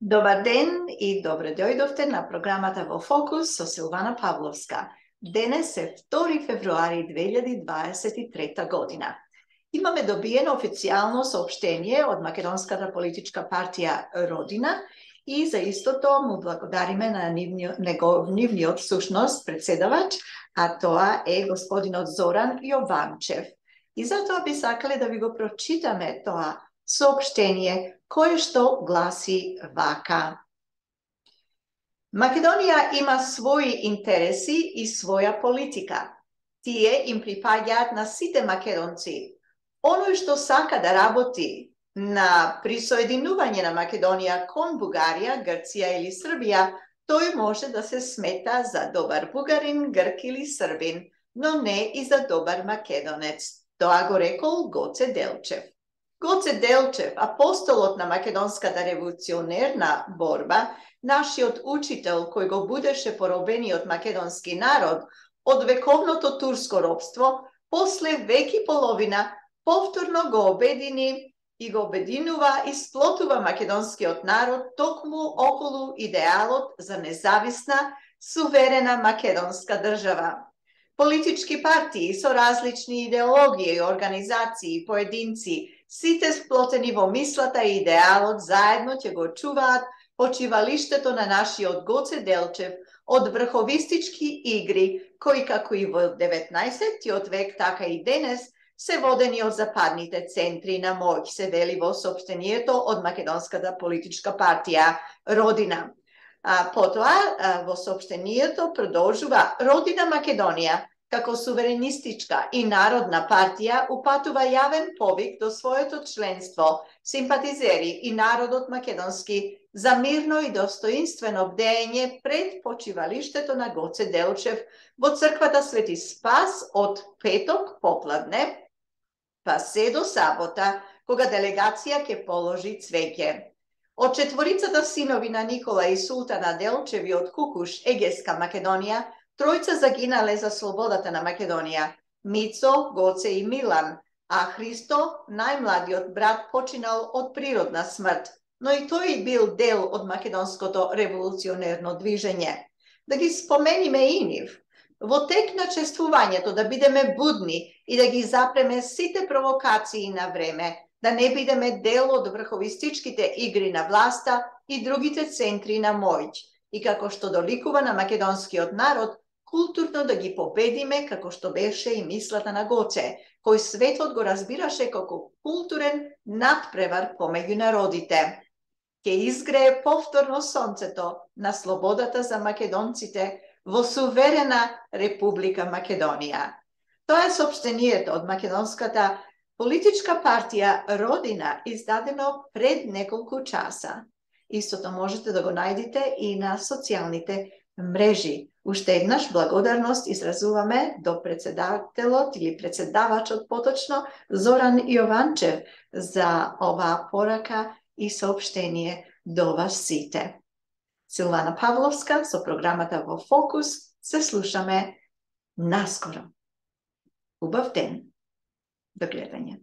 Добар ден и добре дојдовте на програмата Во фокус со Силвана Павловска. Денес е 2 февруари 2023 година. Имаме добиено официјално соопштение од Македонската политичка партија Родина и за истото му благодариме на нивниот сушност председавач, а тоа е господинот Зоран Јованчев. И затоа би сакале да ви го прочитаме тоа соопштение кое што гласи вака. Македонија има своји интереси и своја политика. Тие им припаѓаат на сите македонци. Оној што сака да работи на присоединување на Македонија кон Бугарија, Грција или Србија, тој може да се смета за добар бугарин, грк или србин, но не и за добар македонец. Тоа го рекол Гоце Делчев. Гоце Делчев, апостолот на македонската револуционерна борба, нашиот учител кој го будеше поробениот македонски народ од вековното турско робство, после веки половина повторно го обедини и го обединува и сплотува македонскиот народ токму околу идеалот за независна, суверена македонска држава. Политички партии со различни идеологии, организации, поединци, сите сплотени во мислата и идеалот заедно ќе го чуваат почивалиштето на нашиот Гоце Делчев од врховистички игри, кои како и во 19-тиот век, така и денес, се водени од западните центри на моќ, се вели во соопштението од Македонската политичка партија Родина. Потоа, во соопштението продолжува Родина Македонија, како суверенистичка и народна партија, упатува јавен повик до своето членство, симпатизери и народот македонски за мирно и достоинствено бдење пред почивалиштето на Гоце Делчев во црквата Свети Спас од петок попладне, па се до сабота, кога делегација ќе положи цвеќе. Од четворицата синови на Никола и Султана Делчеви од Кукуш, Егеска Македонија, тројца загинале за слободата на Македонија. Мицо, Гоце и Милан, а Христо, најмладиот брат, починал од природна смрт, но и тој бил дел од македонското револуционерно движење. Да ги спомениме и нив. Во тек на чествувањето да бидеме будни и да ги запреме сите провокации на време, да не бидеме дел од врховистичките игри на власта и другите центри на моќ, и како што доликува на македонскиот народ, културно да ги победиме, како што беше и мислата на Гоце, кој светот го разбираше како културен надпревар помеѓу народите. Ке изгрее повторно сонцето на слободата за македонците во суверена Република Македонија. Тоа е соопштението од Македонската политичка партија Родина, издадено пред неколку часа. Истото можете да го најдете и на социјалните мрежи. Уште еднаш благодарност изразуваме до председателот или председавачот поточно Зоран Јованчев за оваа порака и соопштение до вас сите. Силвана Павловска со програмата Во фокус се слушаме наскоро. Убав ден. До гледање.